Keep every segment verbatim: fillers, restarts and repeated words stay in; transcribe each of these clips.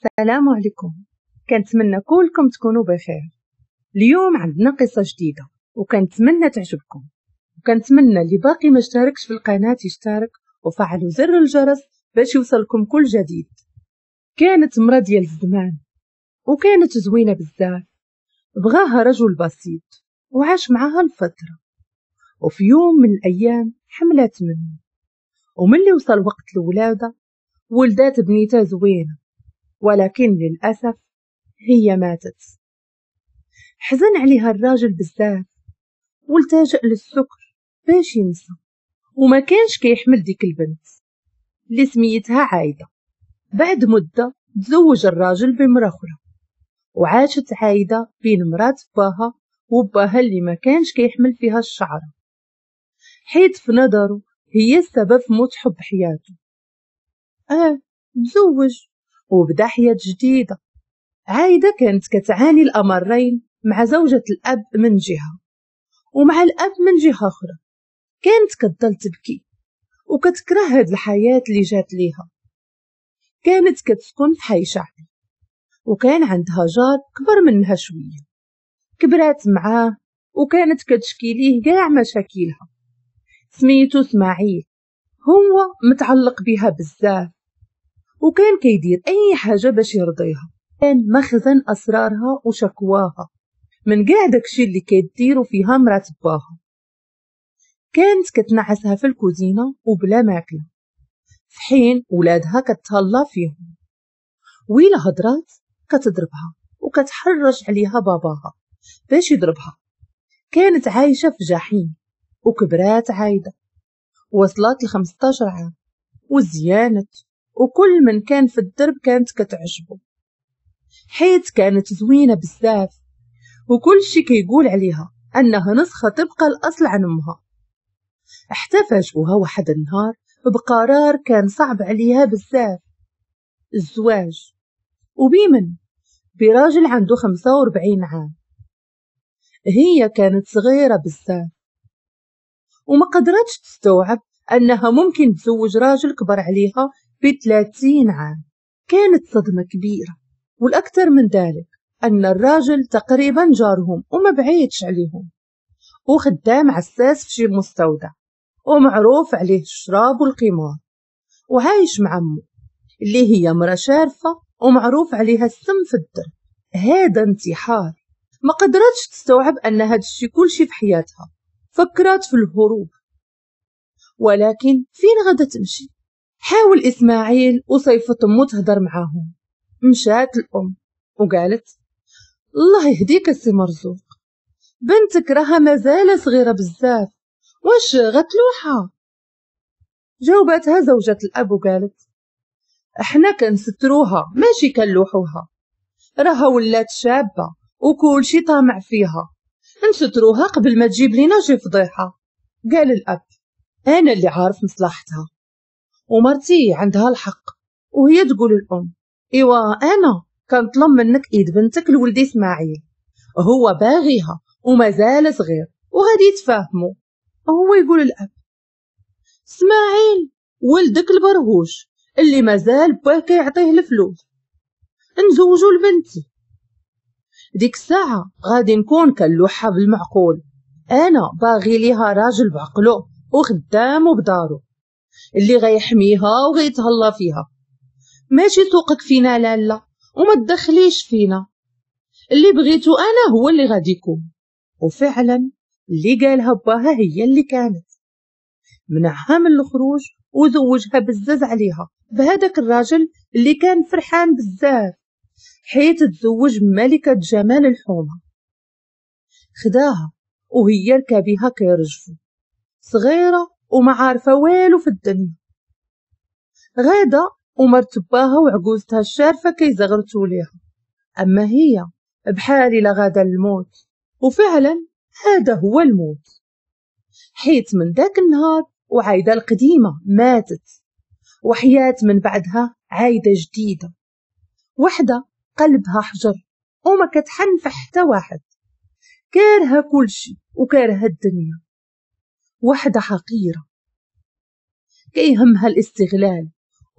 السلام عليكم، كنتمنى كلكم تكونوا بخير. اليوم عندنا قصة جديدة وكنتمنى تعجبكم، وكنتمنى اللي باقي ما اشتركش في القناة يشترك وفعلوا زر الجرس باش يوصلكم كل جديد. كانت مرا ديال الزمان وكانت زوينة بزاف، بغاها رجل بسيط وعاش معاها الفترة، وفي يوم من الأيام حملت منه، وملي وصل وقت الولادة ولدات بنيتها زوينة، ولكن للأسف هي ماتت. حزن عليها الراجل بزاف والتجأ للسكر باش ينسى، وما كانش كيحمل ديك البنت اللي سميتها عايدة. بعد مدة تزوج الراجل بمرأة أخرى، وعاشت عايدة بين مرات باها وباها اللي ما كانش كيحمل فيها الشعرة، حيت في نظره هي السبب في موت حب حياته. اه تزوج وبدا حياة جديدة. عايدة كانت كتعاني الأمرين مع زوجة الأب من جهة ومع الأب من جهة أخرى. كانت كتضل تبكي وكتكره هاد الحياة اللي جات ليها. كانت كتسكن في حي شعبي، وكان عندها جار كبر منها شوية، كبرات معاه وكانت كتشكي ليه كاع مشاكلها. سميتو اسماعيل، هو متعلق بها بزاف وكان كيدير اي حاجة باش يرضيها. كان مخزن اسرارها وشكواها من كاع داكشي اللي كيديرو فيها مرات باها. كانت كتنعسها في الكوزينة وبلا ماكله، في حين ولادها كتهلا فيهم، ويلا هضرات كتضربها وكتحرش عليها باباها باش يضربها. كانت عايشه في جحيم وكبرات عايدة، وصلت ل خمسطاش عام وزيانت، وكل من كان في الدرب كانت كتعجبه حيت كانت زوينة بزاف، وكل شي كيقول عليها انها نسخه تبقى الاصل عن امها. حتى فاجئوها واحد النهار بقرار كان صعب عليها بزاف، الزواج. وبيمن؟ براجل عنده خمسة وأربعين عام. هي كانت صغيرة بزاف وما قدرتش تستوعب أنها ممكن تزوج راجل كبر عليها بثلاثين عام. كانت صدمة كبيرة، والأكثر من ذلك أن الراجل تقريبا جارهم وما بعيدش عليهم، وخدام عساس في شي مستودع، ومعروف عليه الشراب والقمار، وعايش مع أمه اللي هي مرة شارفة ومعروف عليها السم في الدرب. هذا انتحار. ما قدرتش تستوعب أن هذا الشي كلشي في حياتها. فكرت في الهروب، ولكن فين غدا تمشي؟ حاول إسماعيل وصيفط أمه تهضر معاهم. مشات الأم وقالت الله يهديك السي مرزوق، بنتك راها مازال صغيرة بزاف، واش غتلوحها؟ جاوبتها زوجة الأب وقالت احنا كنستروها ماشي كنلوحوها، راها ولات شابة وكل شي طامع فيها، نستروها قبل ما تجيب لينا شي فضيحة. قال الأب أنا اللي عارف مصلحتها ومرتي عندها الحق. وهي تقول الأم إيوا أنا كنطلب منك إيد بنتك لولدي إسماعيل، هو باغيها ومازال صغير وغادي يتفاهموا. هو يقول الأب إسماعيل ولدك البرهوش اللي مازال باه كيعطيه الفلوس، نزوجو لبنتي. ديك الساعة غادي نكون كنلوحها بالمعقول، أنا باغي ليها راجل بعقلو وخدام وبدارو اللي غيحميها وغيتهلا فيها، ماشي سوقك فينا لالا وما تدخليش فينا، اللي بغيتو أنا هو اللي غادي يكون. وفعلا اللي قالها باها هي اللي كانت، منعها من الخروج وزوجها بزز عليها بهذاك الراجل اللي كان فرحان بزاف حيت تزوج ملكة جمال الحومة. خداها وهي ركابيها كيرجفو، صغيرة وما عارفة والو في الدنيا. غادا ومرت باها وعجوزتها الشارفة كيزغرتو ليها، أما هي بحال إلا غادا الموت. وفعلا هذا هو الموت، حيت من ذاك النهار وعايدة القديمة ماتت، وحياة من بعدها عايدة جديدة، وحدة قلبها حجر وما كتحن في حتى واحد، كارهة كلشي وكارهة الدنيا، وحدة حقيرة كيهمها الاستغلال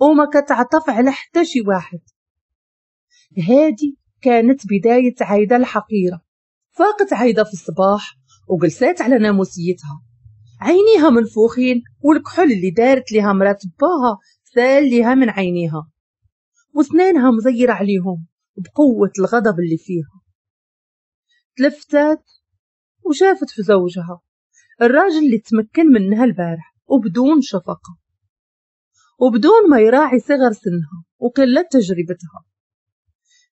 وما كتعطف على حتى شي واحد. هادي كانت بداية عايدة الحقيرة. فاقت عايدة في الصباح وجلسات على ناموسيتها، عينيها منفوخين والكحل اللي دارت لها مرات باها سال لها من عينيها، وسنانها مزيرة عليهم بقوة الغضب اللي فيها. تلفتات وشافت في زوجها، الراجل اللي تمكن منها البارح وبدون شفقة وبدون ما يراعي صغر سنها وقلة تجربتها.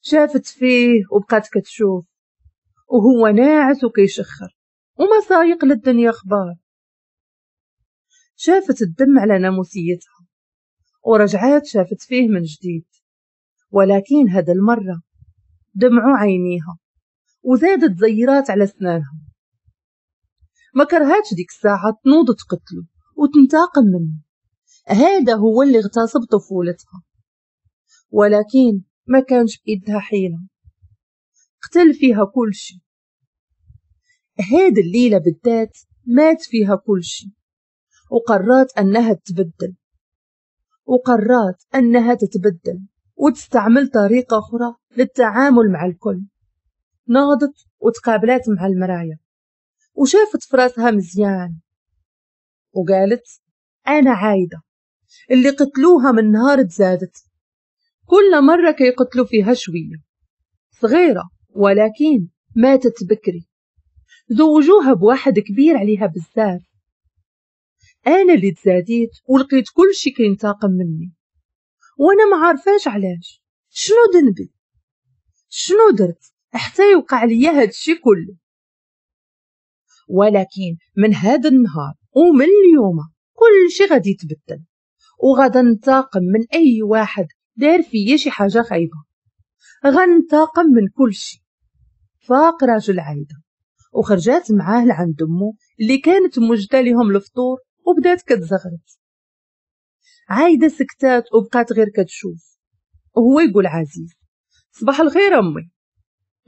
شافت فيه وبقات كتشوف وهو ناعس وكيشخر وما سايق للدنيا اخبار. شافت الدم على ناموسيتها ورجعات شافت فيه من جديد، ولكن هذا المرة دمعوا عينيها وزادت زيرات على سنانها. ما كرهاتش ديك الساعة تنوض تقتله وتنتقم منه، هذا هو اللي اغتصب طفولتها، ولكن ما كانش بإيدها حيلة، قتل فيها كل شيء. هاد الليلة بالذات مات فيها كل شيء، وقررت أنها تتبدل، وقررت أنها تتبدل وتستعمل طريقة أخرى للتعامل مع الكل. ناضت وتقابلت مع المراية وشافت فراسها مزيان وقالت أنا عايدة اللي قتلوها من نهار تزادت، كل مرة كيقتلوا فيها شوية صغيرة، ولكن ماتت بكري، زوجوها بواحد كبير عليها بزاف. أنا اللي تزاديت ولقيت كل شي كينتقم مني وأنا ما عارفاش علاش. شنو ذنبي؟ شنو درت حتى يوقع ليا هاد الشي كله؟ ولكن من هذا النهار ومن اليوم كل شي غادي يتبدل، وغادا ننتقم من أي واحد دار فيا شي حاجة خايبة، غننتقم من كل شي. فاق راجل عايدة وخرجات معاه لعند أمه اللي كانت موجدة لهم الفطور وبدات كتزغرت. عايدة سكتات وبقات غير كتشوف، وهو يقول عزيز صباح الخير أمي.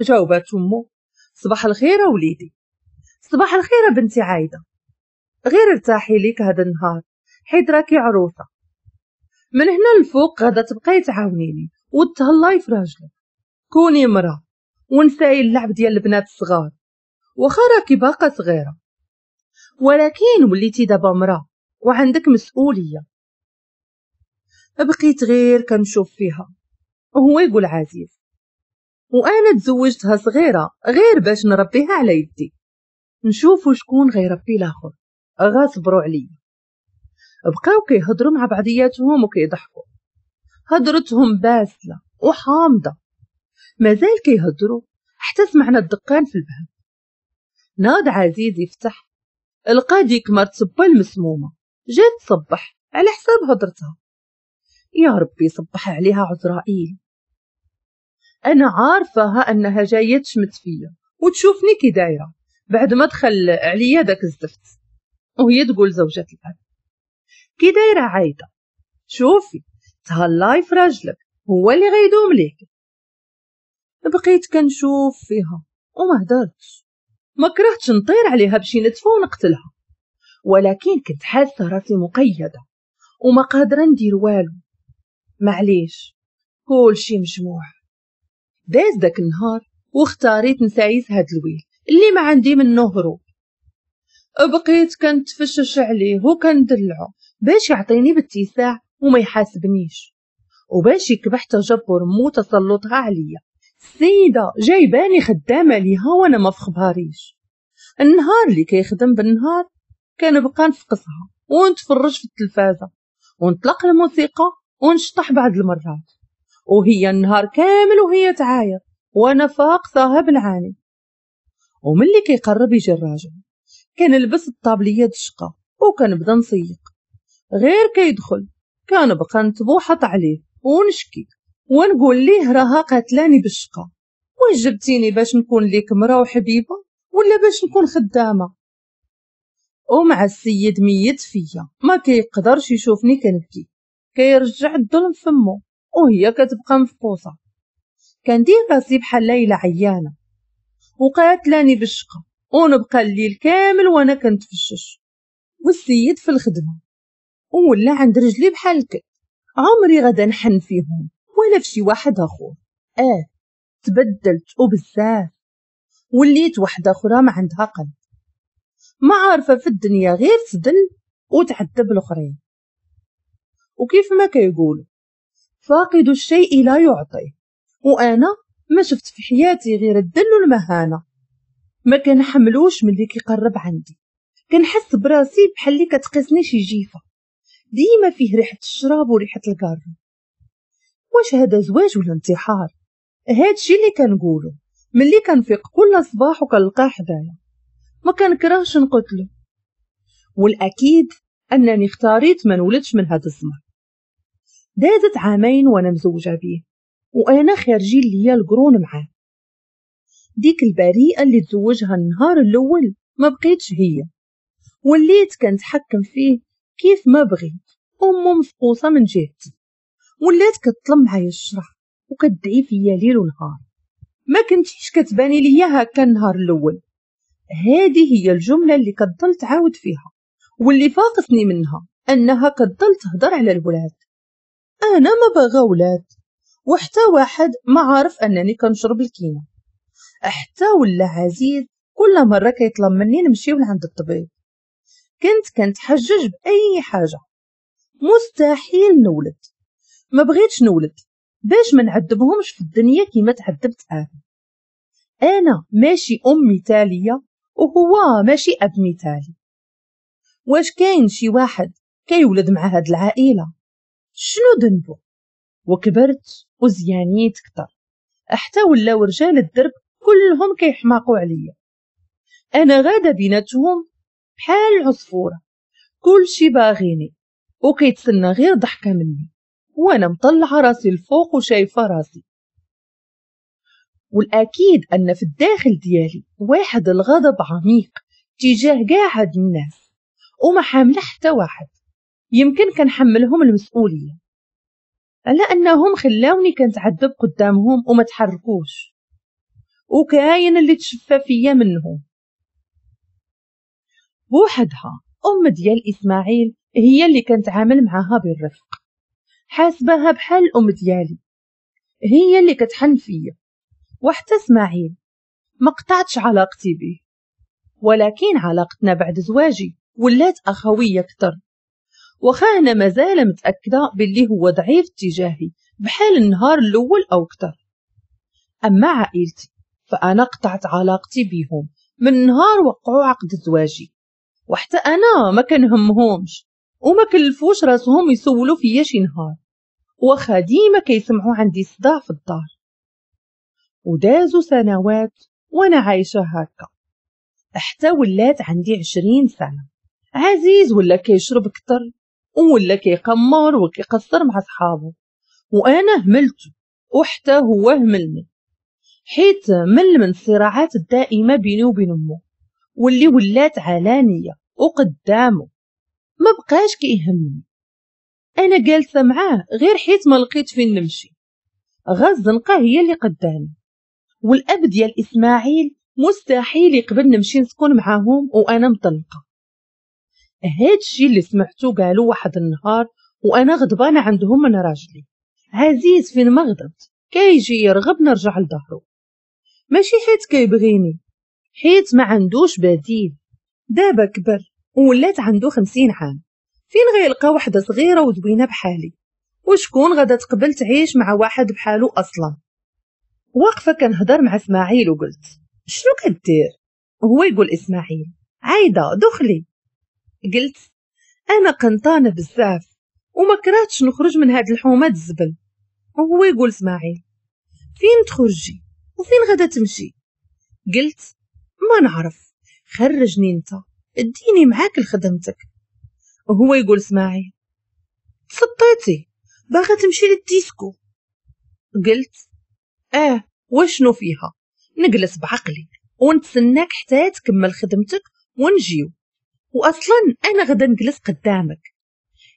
جاوبات أمه صباح الخير وليدي. صباح الخير بنتي عايدة، غير ارتاحي ليك هذا النهار حيت راكي عروسة، من هنا للفوق غادا تبقاي تعاونيني وتهلاي في راجلك، كوني مرا ونساي اللعب ديال البنات الصغار، واخا راكي باقا صغيرة ولكن وليتي دابا مرا وعندك مسؤولية. بقيت غير كنشوف فيها وهو يقول عزيز وانا تزوجتها صغيرة غير باش نربيها على يدي، نشوفوا شكون غيربي الاخر، غاصبروا عليا. بقاو كيهضروا مع بعضياتهم وكيضحكوا، هضرتهم باسله وحامضه. مازال كيهضروا حتى سمعنا الدقان في الباب. ناض عزيز يفتح، لقى ديك مرت با المسمومه جات تصبح على حساب هضرتها. يا ربي صبح عليها عزرائيل، انا عارفاها انها جاية تشمت فيا وتشوفني كي دايرة بعد ما دخل عليا داك الزفت. وهي تقول زوجة الاب كي دايرة عايدة، شوفي تهلاي في راجلك هو اللي غيدوم ليك. بقيت كنشوف فيها وما هدرتش، ما كرهتش نطير عليها بشي نتفه ونقتلها، ولكن كنت حاسه راسي مقيده وما قادرة ندير والو. معليش كل شي مجموع. داز داك النهار واختاريت نسايس هاد الويل اللي ما عندي منه هروب. بقيت كنتفشش عليه وكندلعو باش يعطيني باتساع وما يحاسبنيش، وباش يكبح تجبر مو تسلطها عليا. السيدة جايباني خدامه ليها وانا ما فخباريش. النهار اللي كيخدم بالنهار كنبقى نفقصها ونتفرج في التلفازه ونطلق الموسيقى ونشطح بعض المرات، وهي النهار كامل وهي تعاير وانا فاقصاها بالعاني. وملي كيقرب يجي الراجل كنلبس الطابليه د الشقة وكنبدا نسيق، غير كيدخل كنبقى نتبوحط عليه ونشكي ونقول ليه راها قاتلاني بالشقه، واش جبتيني باش نكون ليك مرا وحبيبه ولا باش نكون خدامه؟ ومع السيد ميت فيا ما كيقدرش يشوفني كنبكي، كيرجع الظلم فمو وهي كتبقى مفقوصه. كندير راسي بحال ليلى عيانه وقاتلاني بالشقه ونبقى الليل كامل وانا كنتفشش، والسيد في الخدمة ولا عند رجلي بحال الكلب. عمري غدا نحن فيهم ولا في شي واحد اخر. اه تبدلت وبزاف، وليت وحده اخرى ما عندها قلب، ما عارفه في الدنيا غير تدل وتعذب الاخرين. وكيف ما كيقولوا فاقد الشيء لا يعطيه، وانا ما شفت في حياتي غير الذل والمهانة. ما كنحملوش ملي كيقرب عندي، كنحس براسي بحال اللي كتقيسني شي جيفه، ديما فيه ريحه الشراب وريحه الكارو. واش هذا زواج ولا انتحار؟ هادشي اللي كنقولو ملي كنفيق كل صباح وكنلقاه حدايا، ما كنكرهش نقتلو. والاكيد انني اختاريت ما نولدش من هذا الزمر. دازت عامين وانا مزوجه بيه، وانا خارجين ليا القرون معاه. ديك البريئة اللي تزوجها النهار الاول ما بقيتش هي، وليت كنتحكم فيه كيف ما بغيت. امه مفقوصه من جهتي، ولات كتطلب معايا الشرع وكتدعي فيا ليل ونهار. ما كنتيش كتباني ليا هكا النهار الاول. هذه هي الجملة اللي كتضل تعاود فيها، واللي فاقصني منها انها كتضل تهضر على الولاد. انا ما باغا ولاد، وحتى واحد ما عارف انني كنشرب الكينه. حتى ولا عزيز كل مرة كيطلب مني نمشيو لعند الطبيب. كنت كنتحجج باي حاجة، مستحيل نولد، ما بغيتش نولد باش ما نعذبهمش في الدنيا كيما تعذبت انا. انا ماشي ام مثاليه وهو ماشي اب مثالي. واش كاين شي واحد كيولد مع هاد العائلة؟ شنو ذنبه؟ وكبرت وزيانيت كتر، حتى ولاو رجال الدرب كلهم كيحماقوا عليا. انا غاده بيناتهم بحال العصفوره، كلشي باغيني وكيتسنى غير ضحكه مني، وانا مطلعه راسي الفوق وشايفه راسي. والاكيد ان في الداخل ديالي واحد الغضب عميق تجاه كاع هاد الناس، وما حامله حتى واحد. يمكن كنحملهم المسؤولية على انهم خلاوني كنتعذب قدامهم وما تحركوش، وكاين اللي تشفى فيا منهم. بوحدها ام ديال اسماعيل هي اللي كنتعامل معاها بالرفق، حاسبها بحال الام ديالي، هي اللي كتحن فيا. وحتى اسماعيل ما قطعتش علاقتي به، ولكن علاقتنا بعد زواجي ولات اخويه اكثر. واخا انا مازال متاكدة باللي هو ضعيف تجاهي بحال النهار الاول او اكثر. اما عائلتي فانا قطعت علاقتي بهم من نهار وقعوا عقد زواجي، وحتى انا ما كنهمهمش وما كلفوش راسهم يسولوا فيا شي نهار، واخا ديما كيسمعوا عندي صداع في الدار. ودازوا سنوات وانا عايشه هكا حتى ولات عندي عشرين سنة. عزيز ولا كيشرب كتر ولا كيقمر وكيقصر مع صحابه، وانا هملته وحتى هو هملني، حيت مل من الصراعات الدائمة بيني وبين امه واللي ولات علانية وقدامه. ما بقاش كيهمني، انا جالسة معاه غير حيت ما لقيت فين نمشي. غا الزنقة هي اللي قدامي، والاب ديال اسماعيل مستحيل يقبل نمشي نسكن معاهم وانا مطلقه. هادشي اللي سمعتو قالوا واحد النهار وانا غضبانه عندهم من راجلي عزيز. فين ما غضبت كيجي يرغب نرجع لظهرو، ماشي حيت كيبغيني، حيت ما عندوش بديل. دابا كبر وولات عنده خمسين عام، فين غيلقى وحده صغيرة وزوينه بحالي؟ وشكون غادا تقبل تعيش مع واحد بحالو اصلا؟ واقفة كنهضر مع اسماعيل وقلت شنو كدير؟ هو يقول اسماعيل عايدة دخلي. قلت انا قنطانه بزاف وما كرهتش نخرج من هاد الحومه الزبل. وهو يقول اسماعيل فين تخرجي وفين غادا تمشي؟ قلت ما نعرف، خرجني انت، اديني معاك لخدمتك. وهو يقول اسماعيل تسطيتي باغا تمشي للديسكو؟ قلت اه وشنو فيها، نجلس بعقلي ونتسناك حتى تكمل خدمتك ونجيو، واصلا انا غدا نجلس قدامك،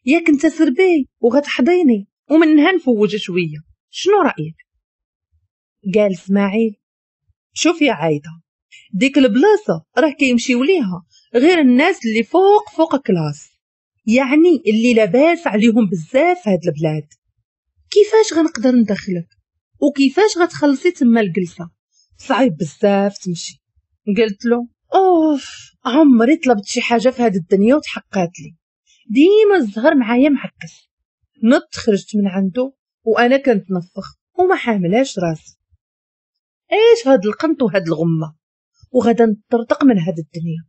ياك انت سربي وغتحضيني ومنها نفوج شوية، شنو رايك؟ قال اسماعيل شوف يا عايدة، ديك البلاصة راه كيمشيو ليها غير الناس اللي فوق فوق classe، يعني اللي لاباس عليهم بزاف هاد البلاد. كيفاش غنقدر ندخلك وكيفاش غتخلصي تما الجلسة؟ صعيب بزاف تمشي. قلت له اوف، عمري طلبت شي حاجة في هاد الدنيا وتحققت لي، ديما الزهر معايا معكس. نط خرجت من عنده وانا كنتنفخ وما حاملاش راسي. ايش هاد القنط وهاد الغمة، وغادا نطرطق من هاد الدنيا.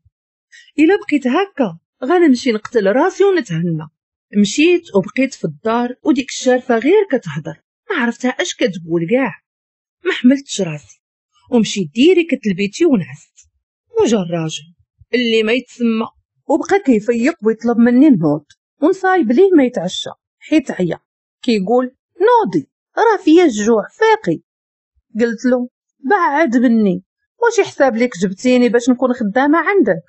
الا بقيت هكا غنمشي نقتل راسي ونتهنى. مشيت وبقيت في الدار وديك الشارفه غير كتهضر، ما عرفتها اش كتقول كاع، ما حملتش راسي ومشيت direct لبيتي ونعست. وجا الراجل اللي ما يتسمى وبقى كيفيق ويطلب مني نوض ونصايب ليه ما يتعشى حيت عيا. كيقول نوضي راه فيا الجوع فاقي. قلت له بعد مني، واش يحساب لك جبتيني باش نكون خدامه عندك؟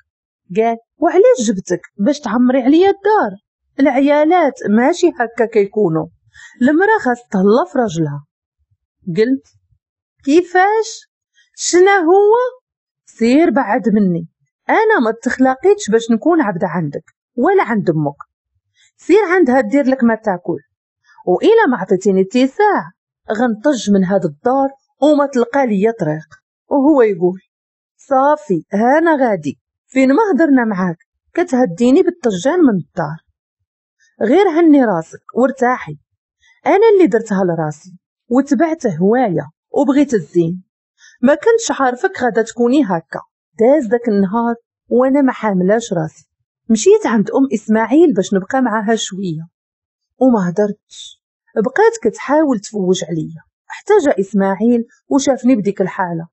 قال وعلاش جبتك؟ باش تعمري عليا الدار. العيالات ماشي هكا كيكونوا، المرا خاص تهلا في راجلها. قلت كيفاش؟ شنا هو؟ سير بعد مني، انا ما تخلاقيتش باش نكون عبده عندك ولا عند امك. سير عندها دير لك ما تاكل، والا ما عطيتيني اتساع غنطج من هاد الدار وما تلقى ليا طريق. وهو يقول صافي هانا غادي، فين ما هضرنا معاك كتهديني بالطجان من الدار، غير هني راسك وارتاحي. انا اللي درتها لراسي وتبعت هواية وبغيت الزين، ما كنتش عارفك غادا تكوني هكا. داز داك النهار وانا ما حاملاش راسي. مشيت عند ام اسماعيل باش نبقى معاها شوية وما هدرتش، بقات كتحاول تفوج عليا حتى جا اسماعيل وشافني بديك الحالة.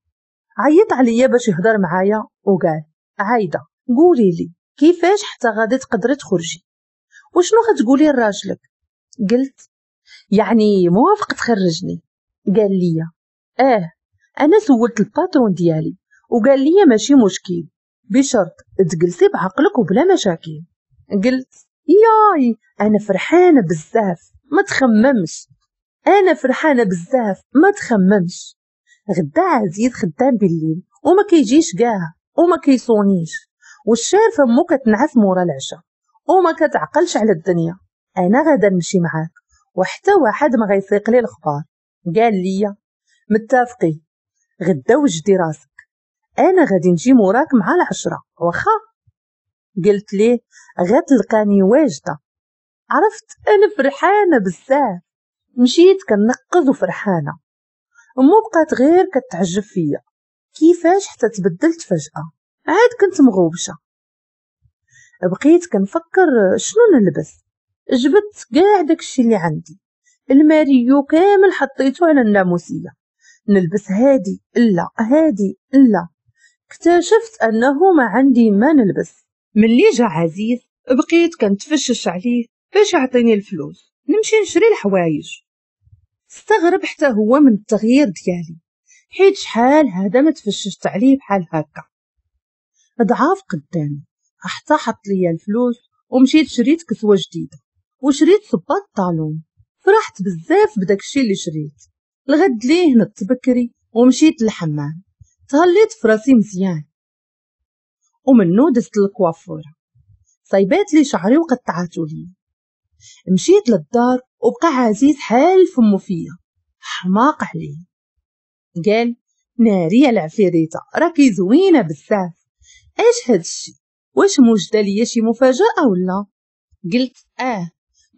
عيط عليا باش يهضر معايا وقال عايدة قولي لي كيفاش حتى غادي تقدري تخرجي وشنو غتقولي لراجلك؟ قلت يعني موافق تخرجني؟ قال لي اه، انا سولت ال patron ديالي وقال لي ماشي مشكل بشرط تجلسي بعقلك وبلا مشاكل. قلت ياي انا فرحانة بزاف ما تخممش، انا فرحانة بزاف ما تخممش. غدا عزيز خدام بالليل وما كيجيش كاع وما كيصونيش، والشارفه مو كتنعس مورا العشاء وما كتعقلش على الدنيا. انا غادا نمشي معاك وحتى واحد ما غيسيق لي الخبار. قال لي متفقين، غدا وجدي راسك، انا غادي نجي موراك مع العشرة واخا؟ قلت ليه غتلقاني واجدة. عرفت انا فرحانة بزاف، مشيت كنقز وفرحانه. امو بقات غير كتعجب فيا كيفاش حتى تبدلت فجاة، عاد كنت مغوبشه. بقيت كنفكر شنو نلبس، جبت كاع داكشي اللي عندي، الماريو كامل حطيته على الناموسيه، نلبس هادي لا هادي لا. اكتشفت انه ما عندي ما نلبس. ملي جا عزيز بقيت كنتفشش عليه باش يعطيني الفلوس نمشي نشري الحوايج. استغرب حتى هو من التغيير ديالي، حيت شحال هذا ما تفششت عليه بحال هكا. ضعاف قدامي حتى حط ليا الفلوس ومشيت شريت كسوه جديدة وشريت صباط talon. فرحت بزاف بداك الشيء اللي شريت. الغد ليه نط بكري ومشيت للحمام، تهليت في راسي مزيان، ومنو دزت للكوافوره صايبات لي شعري وقطعاتو لي. مشيت للدار وبقى عزيز حال فمو فيا، حماق عليه. قال ناري العفيريته راكي زوينة بزاف، اش هادشي؟ واش موجده ليا شي مفاجاة ولا؟ قلت اه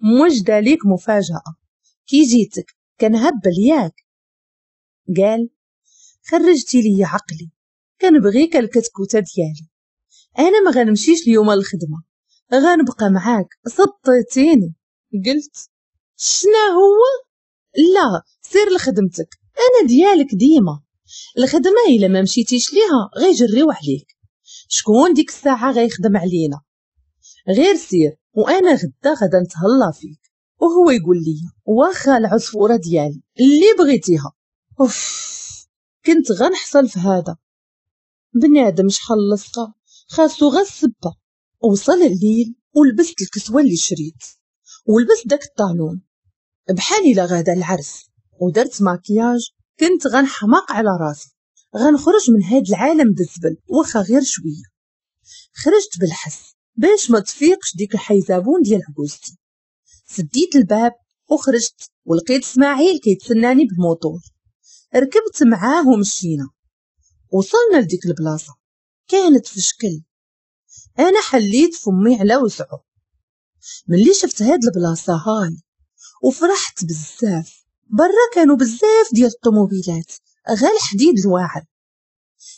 موجده ليك مفاجاة، كي جيتك كنهبل ياك. قال خرجتي لي عقلي، كنبغيك الكتكوته ديالي، انا ما غنمشيش اليوم للخدمة غنبقى معاك، سطيتيني. قلت شنا هو؟ لا سير لخدمتك، انا ديالك ديما، الخدمة الا ما مشيتيش ليها غيجريو عليك، شكون ديك الساعة غيخدم علينا؟ غير سير وانا غدا غدا نتهلا فيك. وهو يقول لي واخا العصفوره ديالي اللي بغيتيها. اوف كنت غنحصل في هذا بنادم شحال لصقه، خاصو غا السبه. وصل الليل ولبست الكسوة اللي شريت ولبست داك ال talon بحال الا غادا العرس، ودرت ماكياج. كنت غنحماق على راسي، غنخرج من هاد العالم بالزبل واخا غير شوية. خرجت بالحس باش ما تفيقش ديك الحيزابون ديال عجوزتي. سديت الباب وخرجت ولقيت اسماعيل كيتسناني بالموتور. ركبت معاه ومشينا، وصلنا لديك البلاصة كانت في شكل. انا حليت فمي على وسعه ملي شفت هاد البلاصة هاي، وفرحت بزاف. برا كانوا بزاف ديال الطوموبيلات غير الحديد الواعر.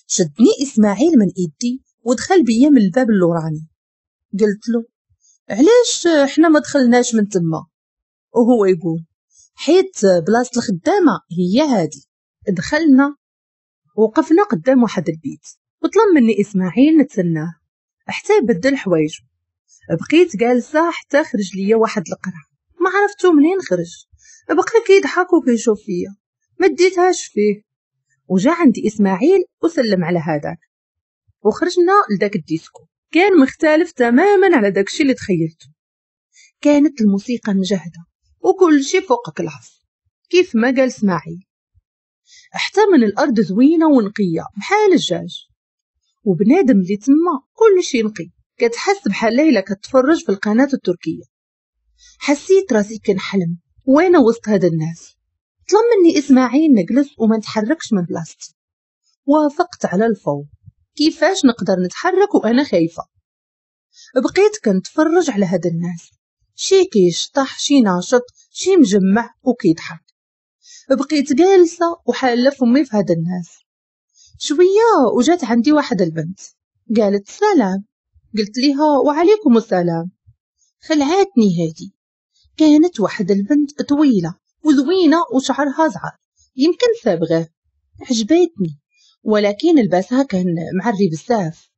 شدني اسماعيل من ايدي ودخل بيا من الباب اللوراني. قلت له علاش حنا ما دخلناش من تما؟ وهو يقول حيت بلاصة الخدامة هي هادي. دخلنا وقفنا قدام واحد البيت، وطلب مني اسماعيل نتسناه حتى يبدل حوايجو. بقيت جالسة حتى خرج ليا واحد القرع، ما عرفتو منين خرج، بقى كيضحك وكيشوف فيا، ما ديتهاش فيه. وجا عندي اسماعيل وسلم على هذاك، وخرجنا لذاك الديسكو. كان مختلف تماما على داكشي اللي تخيلته. كانت الموسيقى مجهده وكل شيء فوق classe كيف ما قال اسماعيل. حتى من الارض زوينة ونقيه بحال الدجاج، وبنادم اللي تما كل شيء نقي، كتحس بحال ليلى كتفرج في القناة التركية. حسيت راسي كنحلم وانا وسط هاد الناس. طلب مني اسماعيل نجلس وما نتحركش من بلاصتي. وافقت على الفور، كيفاش نقدر نتحرك وانا خايفة؟ بقيت كنتفرج على هاد الناس، شي كيشطح، شي ناشط، شي مجمع وكيضحك. بقيت جالسة وحاله فمي في هاد الناس. شوية وجات عندي واحد البنت قالت سلام. قلت ليها وعليكم السلام. خلعتني هادي. كانت واحد البنت طويلة وزوينه وشعرها زعر، يمكن صابغه. عجبتني، ولكن لباسها كان معري بزاف.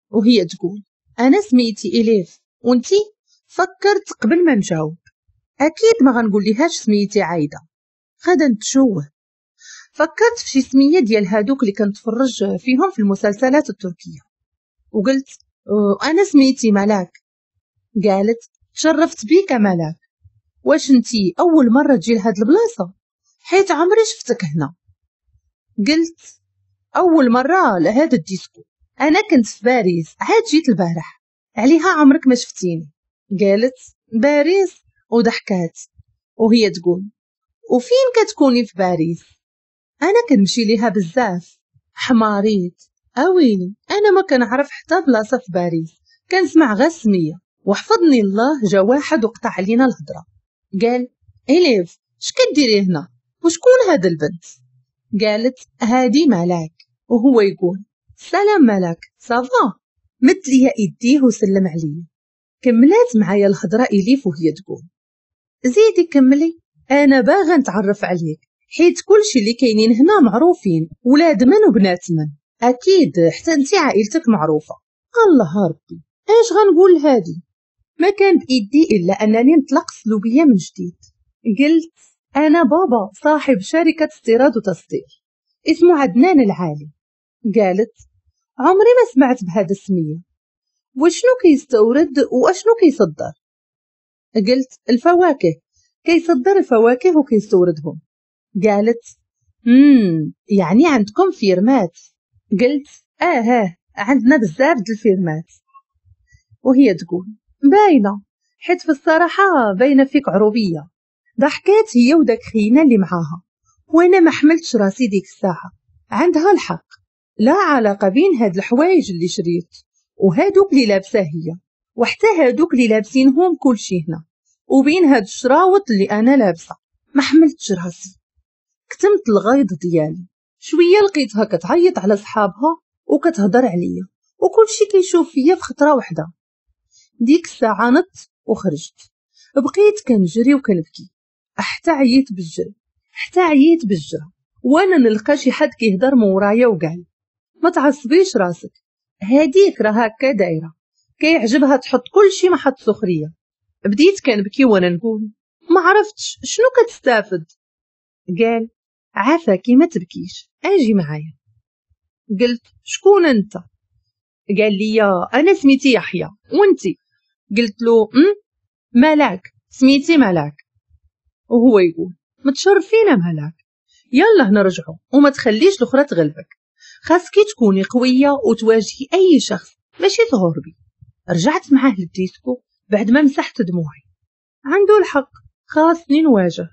وهي تقول انا سميتي اليف وانتي؟ فكرت قبل ما نجاوب، اكيد ما غنقول ليهاش سميتي عايدة، غادا نتشوه. فكرت في شي سميه ديال هادوك اللي كنتفرج فيهم في المسلسلات التركية، وقلت انا سميتي ملاك. قالت تشرفت بيك ملاك، واش انتي اول مرة تجي لهاد البلاصة؟ حيت عمري شفتك هنا. قلت اول مرة لهاد الديسكو، انا كنت في باريس عاد جيت البارح، عليها عمرك ما شفتيني. قالت باريس وضحكات وهي تقول وفين كتكوني في باريس؟ انا كنمشي ليها بزاف. حماريت، اويلي انا ما كنعرف حتى بلاصة في باريس، كنسمع غير السمية. وحفظني الله جا واحد وقطع علينا الهضرة، قال اليف اش كديري هنا وشكون هاد البنت؟ قالت هادي ملاك. وهو يقول سلام ملاك ça va. مد ليا ايديه وسلم عليا. كملات معايا الهضرة اليف وهي تقول زيدي كملي، انا باغا نتعرف عليك، حيت كلشي اللي كاينين هنا معروفين، ولاد من وبنات من، اكيد حتى انت عائلتك معروفة. الله ربي اش غنقول لهادي؟ ما كان بايدي الا انني نطلق سلوبيه من جديد. قلت انا بابا صاحب شركة استيراد وتصدير اسمه عدنان العالي. قالت عمري ما سمعت بهذا السمية، وشنو كيستورد واشنو كيصدر؟ قلت الفواكه، كيصدر الفواكه وكيستوردهم. قالت امم يعني عندكم فيرمات؟ قلت اه اه عندنا بزاف د الفيرمات. وهي تقول باينة، حيت في الصراحة باينة فيك عروبيه. ضحكات هي وداك خينا اللي معاها، وانا ما حملتش راسي ديك الساعة. عندها الحق، لا علاقة بين هاد الحوايج اللي شريت وهادوك اللي لابسه هي، وحتى هادوك اللي لابسينهم كلشي هنا، وبين هاد الشراوط اللي انا لابسه. ما حملتش راسي، كتمت الغيظ ديالي. شوية لقيتها كتعيط على صحابها وكتهضر عليا، وكلشي كيشوف فيا في خطره واحدة. ديك الساعة نط وخرجت، بقيت كنجري وكنبكي حتى عييت بالجري، حتى عييت بالجري وانا نلقى شي حد كيهضر من ورايا وقال ما تعصبيش راسك، هاديك راه هكا دايرة، كيعجبها تحط كلشي محط سخرية. بديت كنبكي وانا نقول ما عرفتش شنو كتستافد. قال عافاكي ما تبكيش، اجي معايا. قلت شكون انت؟ قال لي انا سميتي يحيى وانتي؟ قلت له ام ملاك، سميتي ملاك. وهو يقول متشرفين ملاك، يلا نرجعوا وما تخليش الاخرى تغلبك، خاصك تكوني قوية وتواجهي اي شخص ماشي تهربي. رجعت معاه للديسكو بعد ما مسحت دموعي. عنده الحق، خاصني نواجه.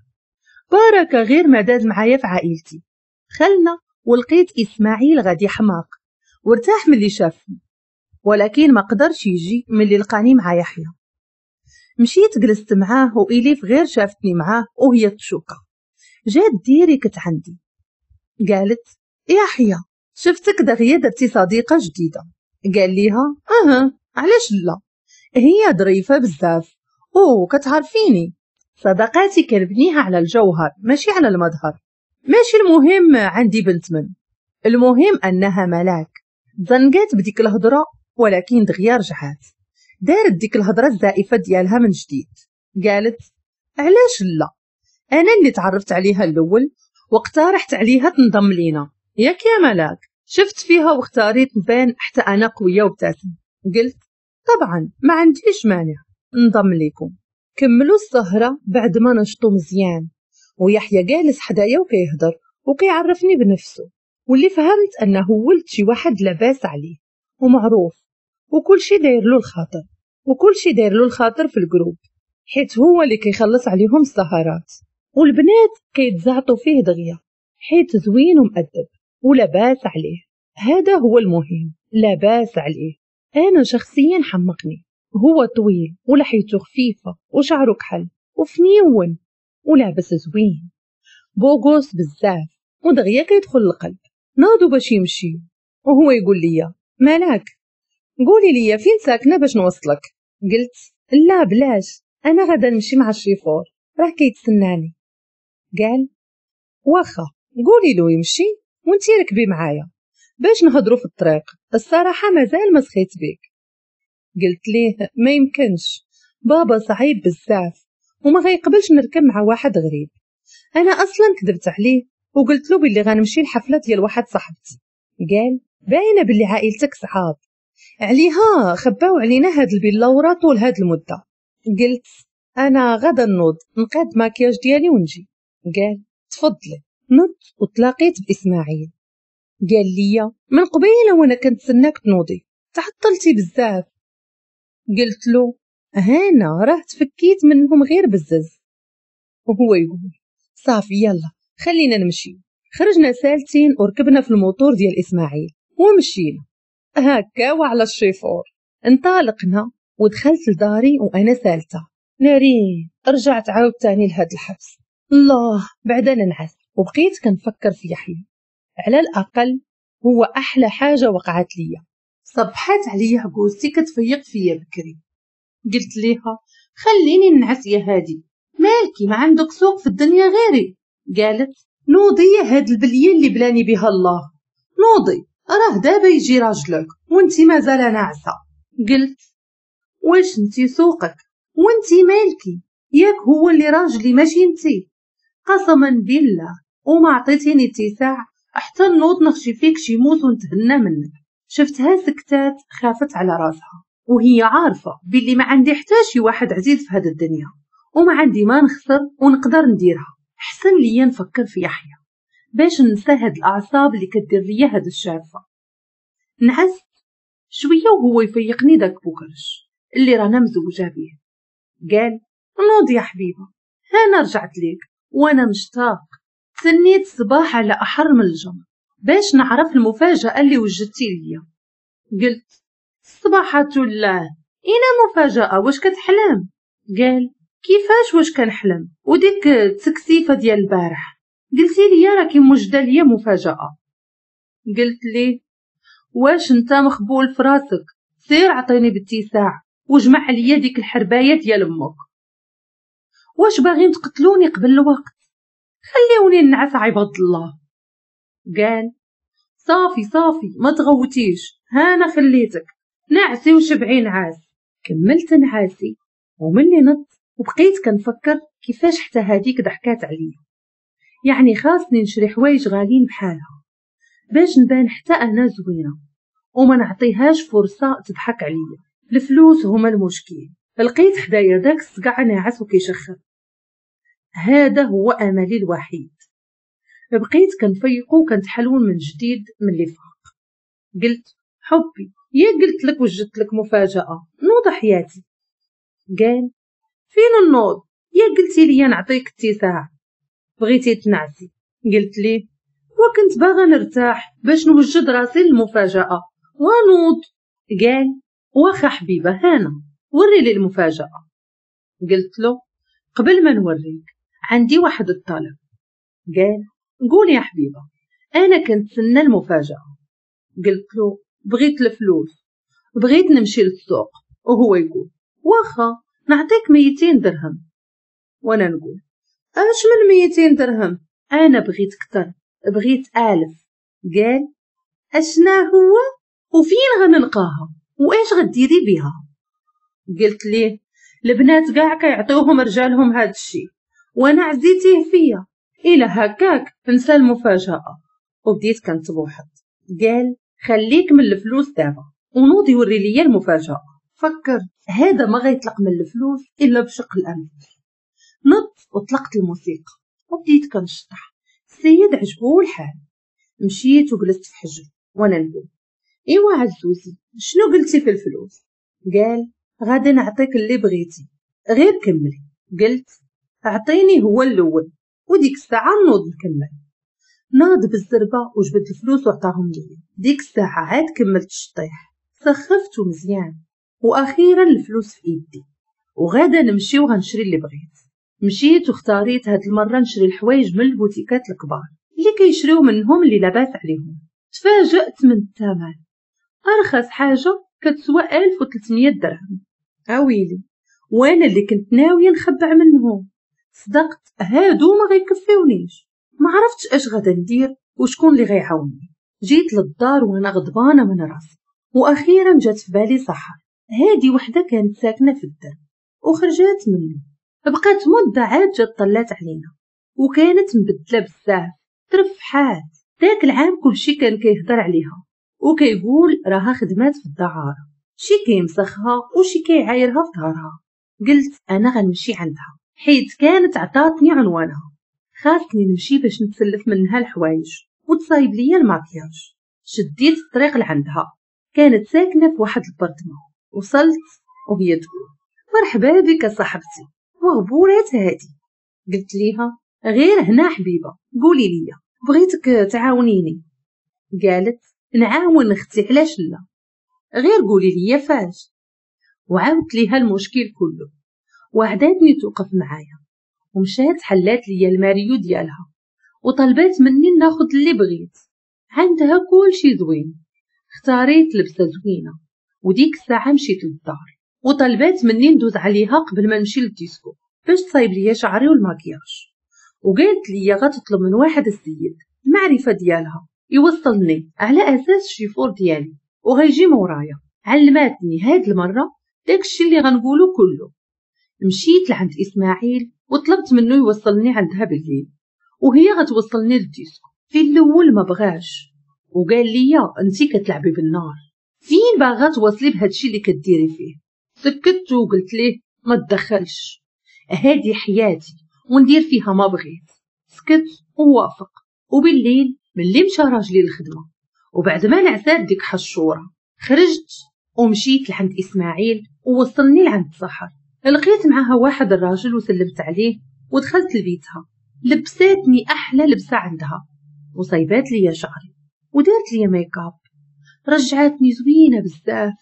بركة غير ما داز معايا في عائلتي. دخلنا ولقيت اسماعيل غادي حماق وارتاح ملي شافني، ولكن ما قدرش يجي ملي لقاني مع يحيى. مشيت جلست معاه وإليف غير شافتني معاه وهي تشوكه. جات direct عندي قالت يحيى شفتك دغيا درتي صديقه جديدة. قال ليها اها علاش لا، هي ظريفة بزاف او كتعرفيني، صداقاتي كنبنيها على الجوهر ماشي على المظهر. ماشي المهم عندي بنت من، المهم انها ملاك. زنقات بديك الهضرة ولكن دغيا رجعات دارت ديك الهضرة الزائفة ديالها من جديد. قالت علاش لا، انا اللي تعرفت عليها الاول واقترحت عليها تنضم لينا، ياك يا ملاك؟ شفت فيها واختاريت نبان حتى انا قوية وابتسم. قلت طبعا ما عنديش مانع نضم ليكم. كملوا السهرة بعد ما نشطوا مزيان، ويحيى جالس حدايا وكيهضر وكيعرفني بنفسه، واللي فهمت انه ولد شي واحد لاباس عليه ومعروف وكل شي داير له الخاطر، وكل شي داير له الخاطر في ال groupe، حيت هو اللي كيخلص عليهم السهرات، والبنات كيتزعطوا فيه دغيا حيت زوين ومؤدب ولاباس عليه. هذا هو المهم، لاباس عليه. انا شخصيا حمقني، هو طويل ولحيته خفيفة وشعره كحل وفنيون ولابس زوين، beau gosse بزاف ودغيا كيدخل القلب. ناضوا باش يمشيو وهو يقول لي ملاك قولي لي فين ساكنة باش نوصلك. قلت لا بلاش، انا غادا نمشي مع الشيفور راه كيتسناني. قال واخا قولي له يمشي وانتي ركبي معايا باش نهضروا في الطريق، الصراحة مازال ما سخيت بيك. قلت ليه ما يمكنش، بابا صعيب بزاف وما غيقبلش نركب مع واحد غريب. انا اصلا كذبت عليه وقلت له باللي غنمشي لحفله ديال واحد صاحبتي. قال باينة باللي عائلتك صعاب عليها خباو علينا هاد البلاوره طول هاد المدة. قلت انا غدا نوض نقاد ماكياج ديالي ونجي. قال تفضلي. نضت وتلاقيت باسماعيل. قال لي من قبيلة وانا كنتسناك تنوضي، تعطلتي بزاف. قلت له هانا راه تفكيت منهم غير بزز. وهو يقول صافي يلا خلينا نمشي. خرجنا سالتين وركبنا في الموتور ديال اسماعيل ومشينا هكا وعلى الشيفور. انطلقنا ودخلت لداري وانا سالته ناري، رجعت عاود تاني لهاد الحبس. الله بعدا ننعس. وبقيت كنفكر في يحيى، على الاقل هو احلى حاجة وقعت ليا. صبحات عليا عجوزتي كتفيق فيا بكري. قلت ليها خليني ننعس يا هادي، مالكي ما عندك سوق في الدنيا غيري؟ قالت نوضي يا هاد البلية اللي بلاني بها الله، نوضي راه دابا يجي راجلك وانتي مازال ناعسه. قلت واش انتي سوقك وانتي مالكي؟ ياك هو اللي راجلي ماشي انتي. قسما بالله وما عطيتيني اتساع حتى نوض نخشي فيك شي موس ونتهنى منك. شفتها سكتات خافت على راسها وهي عارفه باللي ما عندي حتى شي واحد عزيز في هاد الدنيا وما عندي ما نخسر ونقدر نديرها. حسن ليا نفكر في يحيى باش ننسى هاد الاعصاب اللي كدير ليا هاد الشافه. نعست شوية وهو يفيقني داك بوكرش اللي رانا مزوجه به. قال نوض يا حبيبه، انا رجعت ليك وانا مشتاق. تسنيت الصباح على احر من الجمر باش نعرف المفاجاة اللي وجدتي ليا. قلت صباحة الله اين مفاجاة، واش كتحلم؟ قال كيفاش واش كنحلم؟ وديك التكسيفه ديال البارح قلتي لي راكي موجده ليا مفاجاة. قلت ليه واش انت مخبول في راسك؟ سير عطيني باتساع وجمع عليا ديك الحربايه ديال امك. واش باغين تقتلوني قبل الوقت؟ خليوني نعس عباد الله. قال صافي صافي ما تغوتيش، هانا خليتك نعسي وشبعي نعاس. كملت نعاسي وملي نط وبقيت كنفكر كيفاش حتى هاديك ضحكات عليا. يعني خاصني نشري حوايج غاليين بحالها باش نبان حتى انا زوينة وما نعطيهاش فرصة تضحك عليا. الفلوس هما المشكل. لقيت حدايا داك الصقع ناعس وكيشخر، هذا هو املي الوحيد. بقيت كنفيقو وكنتحلون من جديد من اللي فاق. قلت حبي يا قلت لك وجدت لك مفاجاة، نوض حياتي. قال فين النوض؟ يا قلتي لي نعطيك اتساع، بغيتي تنعسي. قلت ليه وكنت باغا نرتاح باش نوجد راسي للمفاجأة ونوض. قال واخا حبيبة هانا وري لي المفاجأة. قلت له قبل ما نوريك عندي واحد الطلب. قال قول يا حبيبة أنا كنتسنى المفاجأة. قلت له بغيت الفلوس، بغيت نمشي للسوق. وهو يقول واخا نعطيك ميتين درهم. وانا نقول اش من ميتين درهم، انا بغيت كتر، بغيت الف. قال اشنا هو وفين غنلقاها واش غديري بها؟ قلت ليه البنات كاع كيعطيوهم رجالهم هاد الشيء وانا عزيتيه فيا، الى هكاك نسى المفاجأة. وبديت كنتبوحط. قال خليك من الفلوس دابا ونوض يوري ليا المفاجأة. فكر هذا ما غيطلق من الفلوس الا بشق الانفس. نط وطلقت الموسيقى وبديت كنشطح. السيد عجبو الحال. مشيت وجلست في حجر وانا نقول ايوا عزوزي شنو قلتي في الفلوس؟ قال غادي نعطيك اللي بغيتي غير كملي. قلت اعطيني هو الاول وديك الساعة نوض نكمل. ناض بالزربه وجبد الفلوس وعطاهم لي. ديك الساعة عاد كملت الشطيح، سخفته مزيان. واخيرا الفلوس في ايدي وغادا نمشي وغنشري اللي بغيت. مشيت واختاريت هاد المرة نشري الحوايج من البوتيكات الكبار اللي كيشريو منهم اللي لاباس عليهم. تفاجأت من الثمن، ارخص حاجة كتسوى ألف وثلاثمية درهم. اويلي وانا اللي كنت ناوية نخبع منهم. صدقت هادو ما غيكفيونيش. ما عرفتش اش غادا ندير وشكون اللي غيعاوني. جيت للدار وانا غضبانه من راسي. واخيرا جات في بالي سحر، هادي وحده كانت ساكنة في الدرب وخرجات منه. بقات مده عاد جات طلات علينا وكانت مبدله بزاف، ترفحات. داك العام كلشي كان كيهضر عليها وكيقول راها خدمات في الدعاره، شي كيمسخها وشي كيعايرها في ظهرها. قلت انا غنمشي عندها حيت كانت عطاتني عنوانها، خاصني نمشي باش نتسلف منها الحوايج وتصايب ليا الماكياج. شديت الطريق لعندها، كانت ساكنة في واحد البرطمه. وصلت وهي تقول مرحبا بك صاحبتي وغبورات هادي. قلت ليها غير هنا حبيبه قولي لي بغيتك تعاونيني. قالت نعاون اختي علاش لا، غير قولي لي فاش. وعاودت ليها المشكل كله وعداتني توقف معايا. ومشات حلات ليا الماريو ديالها وطلبات مني ناخذ اللي بغيت. عندها كل شي زوين. اختاريت لبسه زوينة وديك الساعة مشيت للدار وطلبات مني ندوز عليها قبل ما نمشي للديسكو باش تصايب ليا شعري والماكياج. وقالت لي غتطلب من واحد السيد المعرفة ديالها يوصلني على اساس الشيفور ديالي وغيجي مورايا. علماتني هاد المرة داكشي اللي غنقولو كله. مشيت لعند اسماعيل وطلبت منه يوصلني عندها بالليل وهي غتوصلني للديسكو. في الاول ما بغاش وقال لي انتي كتلعبي بالنار، فين باغا توصلي بهادشي اللي كديري فيه؟ سكت وقلت ليه ما تدخلش، هادي حياتي وندير فيها ما بغيت. سكت ووافق. وبالليل ملي مشى راجلي للخدمة وبعد ما نعسات ديك حشوره خرجت ومشيت لعند اسماعيل ووصلني لعند سحر. لقيت معها واحد الراجل وسلمت عليه ودخلت لبيتها. لبساتني احلى لبسه عندها وصيبات لي شعري ودارت لي ميك اب، رجعتني زوينة بزاف.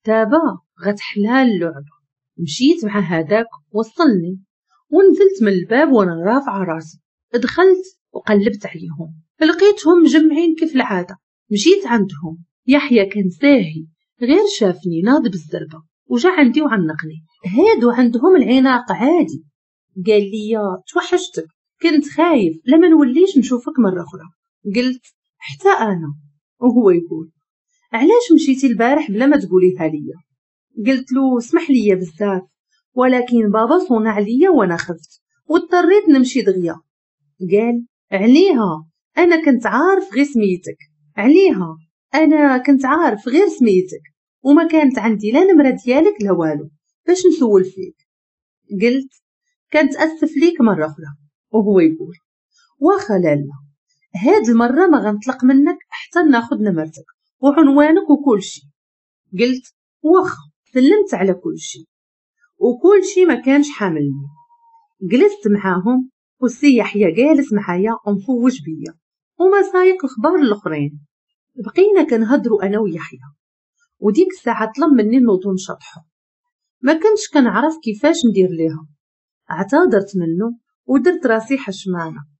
دابا غتحلى اللعبة. مشيت مع هذاك وصلني ونزلت من الباب وانا رافعه راسي. دخلت وقلبت عليهم لقيتهم مجمعين كيف العادة. مشيت عندهم، يحيى كان ساهي غير شافني ناض بالزربه وجا عندي وعنقني. هادو عندهم العناق عادي. قال لي توحشتك، كنت خايف لما نوليش نشوفك مرة اخرى. قلت حتى انا. وهو يقول علاش مشيتي البارح بلا ما تقوليها ليا؟ قلت له اسمح لي بزاف ولكن بابا صونع عليا وانا خفت واضطريت نمشي دغيا. قال عليها انا كنت عارف غير سميتك، عليها انا كنت عارف غير سميتك وما كانت عندي لا نمره ديالك لا والو باش نسول فيك. قلت كنت اسف ليك مرة اخرى. وهو يقول واخا لالا هاد المرة ما غنطلق منك حتى ناخذ نمرتك وعنوانك وكل شيء. قلت واخا. سلمت على كل شيء وكل شيء ما كانش حاملني. جلست معاهم والسي يحيى جالس معايا ومفوج بيا وما سايق الخبار الاخرين. بقينا كنهضروا انا ويحيى، وديك الساعة طلب مني نوضو نشطحو. ما كنتش كنعرف كيفاش ندير ليها، اعتذرت منه ودرت راسي حشمانه.